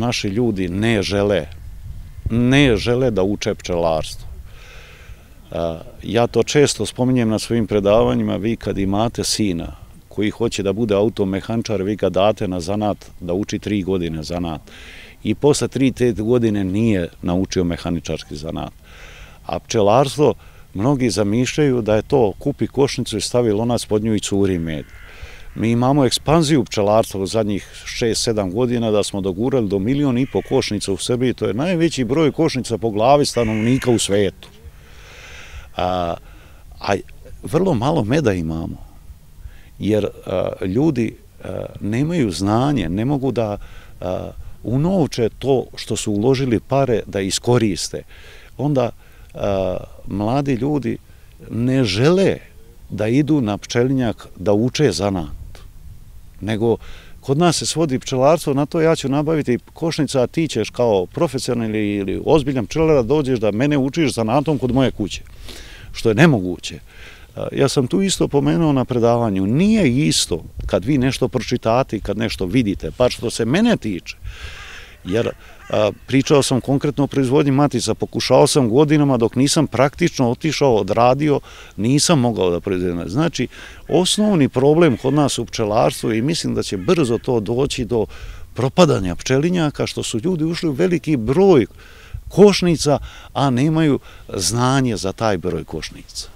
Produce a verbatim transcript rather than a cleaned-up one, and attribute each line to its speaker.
Speaker 1: naši ljudi ne žele, ne žele da uče pčelarstvo. Ja to često spominjem na svojim predavanjima, vi kad imate sina koji hoće da bude automehančar, vi ga date na zanat da uči tri godine zanat i posle tri te godine nije naučio mehaničarski zanat. A pčelarstvo, mnogi zamišljaju da je to kupi košnicu i stavi lonac pod nju i curi med. Mi imamo ekspanziju pčelarstva u zadnjih šest sedam godina da smo dogurali do milion i po košnica u Srbiji, to je najveći broj košnica po glavi stanovnika u svetu. A, a vrlo malo meda imamo, jer a, ljudi a, nemaju znanje, ne mogu da a, unovče to što su uložili pare da iskoriste. Onda a, mladi ljudi ne žele da idu na pčelinjak da uče zanat, nego kod nas se svodi pčelarstvo na to, ja ću nabaviti košnica, a ti ćeš kao profesionalni ili ozbiljan pčelar da dođeš da mene učiš zanatom kod moje kuće, što je nemoguće. Ja sam tu isto pomenuo na predavanju, nije isto kad vi nešto pročitate i kad nešto vidite, pa što se mene tiče, jer pričao sam konkretno o proizvodnji matica, pokušao sam godinama dok nisam praktično otišao, odradio, nisam mogao da proizvedem. Znači, osnovni problem kod nas u pčelarstvu i mislim da će brzo to doći do propadanja pčelinjaka, što su ljudi ušli u veliki broj košnica, a nemaju znanje za taj broj košnica.